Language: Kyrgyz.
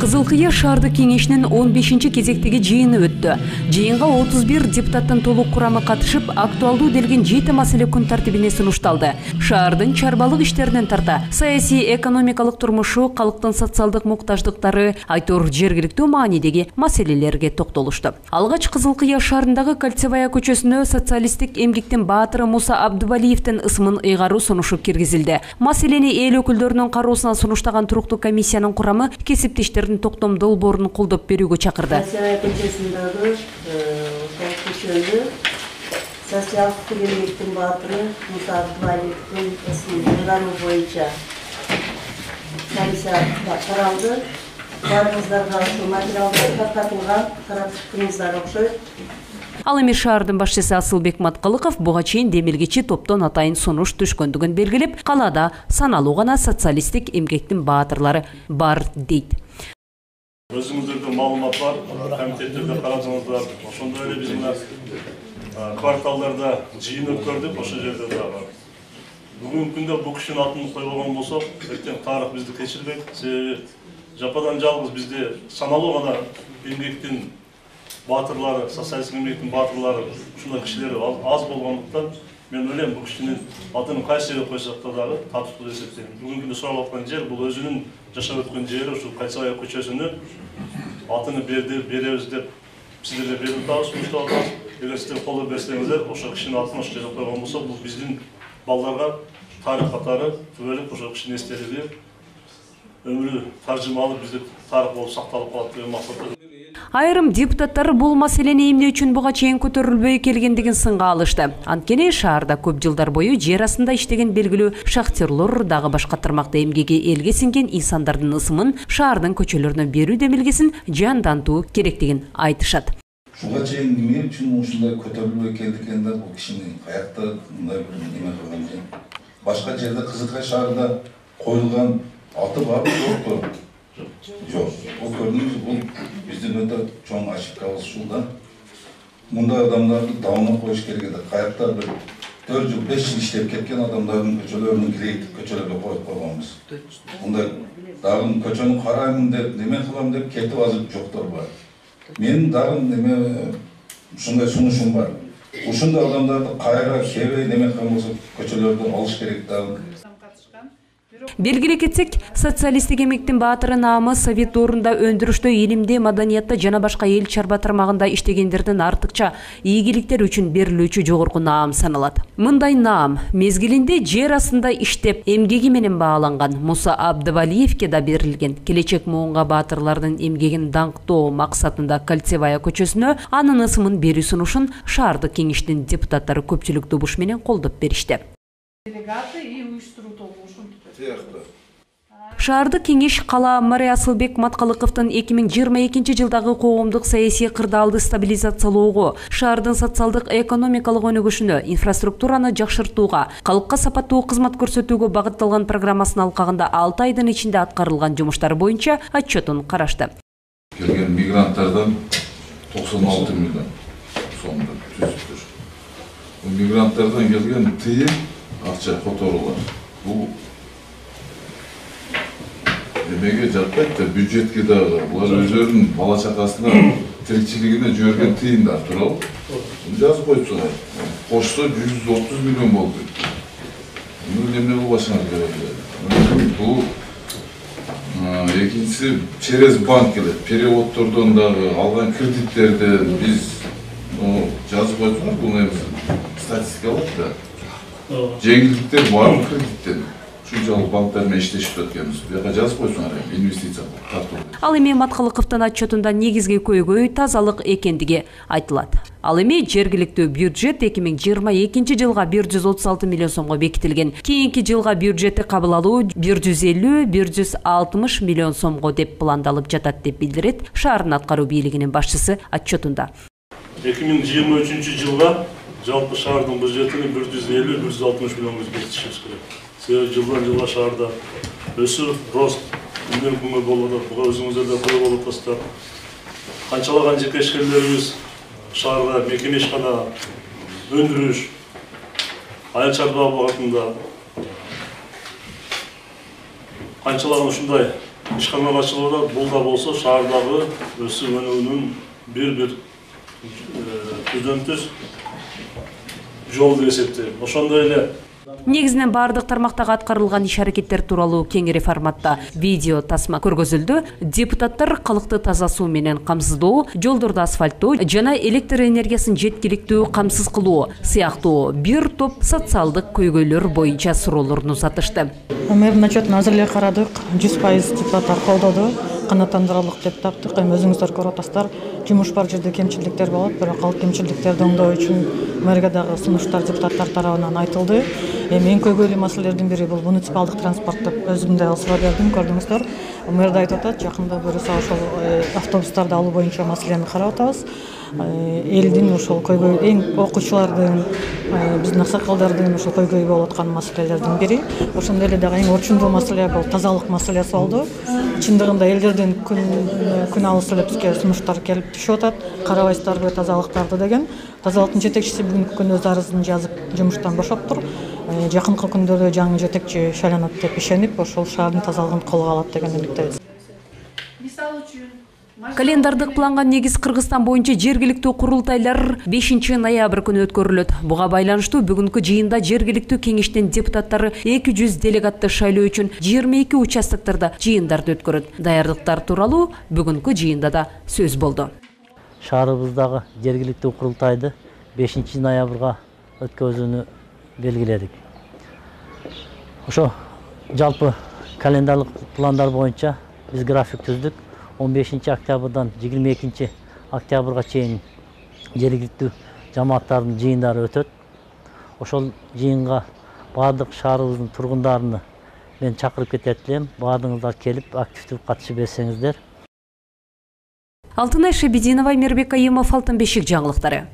Кызыл Кыя шаардык кеңешинин 15-кезектеги жыйыны өттү. Жыйынга 31 депутаттын толук курамы катышып, актуалдуу делген 7 маселе күн тартибине сунушталды. Шаардын чарбалык иштеринен тарта саясий экономикалык турмушу, калктын социалдык муктаждыктары, Айтор жергиликтүү маанидеги маселелерге токтолушту. Алгач Кызыл Кыя шаарындагы Кольцевая көчөсүнө социалисттик эмгектин баатыры Муса Абдувалиевдин ысымын ыйгаруу сунушу киргизилди. Маселени эл өкүлдөрүнүн кароосуна сунуштаган туруктуу комиссиянын курамы кесиптештердин токтом долбоорун колдоп берүүгө чакырды. Кольцевая көчөсүндөгү көчөнү социалдык эмгектин баатыры Муса Абдувалиевдин ысымын ыйгаруу боюнча комиссия каралды. Баарыңыздарга ушул материалдар таркатылган, карап чыктыңыздар окшойт. Ал эми шаардын башчысы Асылбек Маткалыков буга чейин демилгечи топтон атайын сунуш түшкөндүгүн белгилеп, калаада саналуу гана социалисттик эмгектин баатырлары бар дейт. Өзүңүздөрдө маалымат бар, комитеттерде карадыңыздар. Ошондой эле биз мына кварталдарда жыйын өткөрдүк, ошол жерде дагы. Бүгүнкү күндө бул кишинин атын койбогон болсок, эртең тарых бизди кечирбейт. Себеби жападан жалгыз бизде саналуу гана эмгектин баатырлары, социалисттик эмгектин баатырлары, ушундай кишилер аз болгондуктан мен ойлойм бул кишинин атын кайсы жерге койсок дагы татыктуу деп эсептейм. Бүгүнкү күндө сурап аткан жер бул өзүнүн жашап өткөн жери, ушул Кольцевая көчөсүнө атын беребиз деп сиздерге берип атабыз, сунуштап атабыз. Эгер сиздер колдоп берсеңиздер, ошол кишинин атын ошол жерге койгон болсо, бул биздин балдарга тарих катары түбөлүк ошол кишинин эстелиги өмүрү таржымалуу биздик тарих болуп сакталып калат деген максатта. Айрым депутаттар бул маселени эмне үчүн буга чейин көтөрүлбөй келгендигин сынга алышты. Анткени шаарда көп жылдар бою жер астында иштеген белгилүү шахтерлор дагы башка тармакта эмгеги элге сиңген инсандардын ысымын шаардын көчөлөрүнө берүү демилгесин жандантуу керектигин айтышат. Ушуга чейин эмне үчүн ушундай көтөрүлбөй келди экен да, бул кишини каякта мындай бир неме кылган экен. Башка жерде Кызыл Кыя шаарында коюлган аты барбы, жокпу? Жок. Бул көрдүңүз, бул биздин өтө чоң ошибкабыз ушул да. Мындай адамдарды давына коюш керек эди. Каякта бир 4 жыл, 5 жыл иштеп кеткен адамдардын көчөлөрүнүн кирейт көчөлөргө коюп койгонбуз. Мындай дагы көчөнү караймын деп, неме кылам деп кетип азыр жоктор бар. Менин дагы неме ушундай сунушум бар. Ушундай адамдарды кайра кебей неме кылган болсо көчөлөрдөн алыш керек дагы. Белгилей кетсек, социалисттик эмгектин баатыры наамы совет доорунда өндүрүштө, илимде, маданиятта жана башка эл чарба тармагында иштегендердин артыкча ийгиликтер үчүн берилүүчү жогорку наам саналат. Мындай наам мезгилинде жер астында иштеп, эмгеги менен бааланган Муса Абдувалиевке да берилген. Келечек муунга баатырлардын эмгегин даңктоо максатында Кольцевая көчөсүнө анын ысымын берүү сунушун шаардык кеңештин депутаттары көпчүлүк добуш менен колдоп беришти. Шаардык кеңеш кала мэрі Асылбек Маткалыковдун 2022 жылдагы коомдук саясий кырдаалды стабилизациялоого, шаардын социалдык экономикалык өнүгүшүнө, инфраструктураны жакшыртууга, калкка сапаттуу кызмат көрсөтүүгө багытталган программасынын алкагында 6 айдын ичинде аткарылган жумуштар боюнча отчетун карашты. Келген мигранттардан 96 миллион сомдон түзүптүр. Бул мигранттардан келген тыйын акча которулар. Бул эмеге жатпайт да, бюджетке дагы. Булар өздөрүнүн бала чакасына тиричилигине жиберген тыйындар тууралуу. Жазып койсуңар. Кошсо 130 миллион болду. Бул эмне болбашыңар керек. Бул экинчиси через банк келет. Переводдордон дагы алган кредиттерден биз жазып койсуңар. Бул эми статистика болот да. Жеңилдиктер бар кредиттен. Ушунчалык банктар менен иштешип өткөнбүз. Буга жазып койсуңар, инвестиция тартуу. Ал эми Маткалыковдун отчетунда негизги көйгөй тазалык экендиги айтылат. Ал эми жергиликтүү бюджет 2022 жылга 136 миллион сомго бекитилген. Кийинки жылга бюджетти кабыл алуу 150-160 миллион сомго деп пландалып жатат деп билдирет шаардын аткаруу бийлигинин башчысы отчетунда. 2023 жылга жалпы шаардын бюджетini 150-160 миллионго бекитишибиз керек. Себеби жылдан жылга шаарда өсүү, рост күндөн күнгө болуп атат. Буга өзүңүздөр да көрүп болуп атасыздар. Канчалаган жеке ишкерлерибиз шаарга мекеме ишкана, өндүрүш, айыл чарба багытында канчалаган ушундай ишкана башчылыгы бул да болсо шаардагы өсүп өнүүнүн бир түз жол деп эсептейм. Ошондой эле Негизинен бардык тармактагы аткарылган иш-аракеттер тууралуу кеңири форматта видео тасма көргөзүлдү. Депутаттар калкты таза суу менен камсыздоо, жолдорду асфальттоо жана электр энергиясын жеткиликтүү камсыз кылуу сыяктуу бир топ социалдык көйгөйлөр боюнча суроолорун узатышты. Мэрдин отчетун азыр эле карадык, 100% депутаттар колдоду. Канааттандырарлык деп таптык. Эми өзүңүздөр көрүп атасыздар, жумуш бар жерде кемчиликтер болот, бирок ал кемчиликтерди оңдоо үчүн мэрге дагы сунуштар депутаттар тарабынан айтылды. Эми эң көйгөйлүү маселелердин бири бул муниципалдык транспорт деп өзүм да суроо бердим, көрдүңүздөр. Мэр да айтып атат, жакында буюрса ошол автобустарды алуу боюнча маселени карап атабыз. Элдин ошол көйгөй, эң окуучулардын, биздин аксакалдардын ошол көйгөй болуп аткан маселелердин бири. Ошондой эле дагы эң орчундуу маселе бул тазалык маселеси болду. Чындыгында элдердин күн алыс эле бизге сунуштар келип түшүп атат. Карабайсыздарбы тазалыктарды деген. Тазалыктын жетекчиси бүгүнкү күндө өз арызын жазып жумуштан бошоптур. Жакынкы күндөрдө жаңы жетекчи шайланат деп ишенип, ошол шаардын тазалыгын колго алат деген үмүттөбүз. Календардык планга негиз Кыргызстан боюнча жергиликтүү курултайлар 5 ноябрь күнү өткөрүлөт. Буга байланыштуу бүгүнкү жыйында жергиликтүү кеңештин депутаттары 200 делегатты шайлоо үчүн 22 участоктарда жыйындарды өткөрөт. Даярдыктар тууралуу бүгүнкү жыйында да сөз болду. Шаарыбыздагы жергиликтүү курултайды 5 ноябрга өткөзүүнү белгиледик. Ошо жалпы календарлык пландар боюнча биз график түздүк. 15 октябрдан 22 октябрга чейин жергиликтүү жамааттардын жыйындары өтөт. Ошол жыйынга бардык шаарыбыздын тургундарын мен чакырып кетет элем. Баардыгыңыздар келип активдүү катышып берсеңиздер. Алтынай Шебединова, Мирбек Айымов, Алтын бешик жаңылыктары.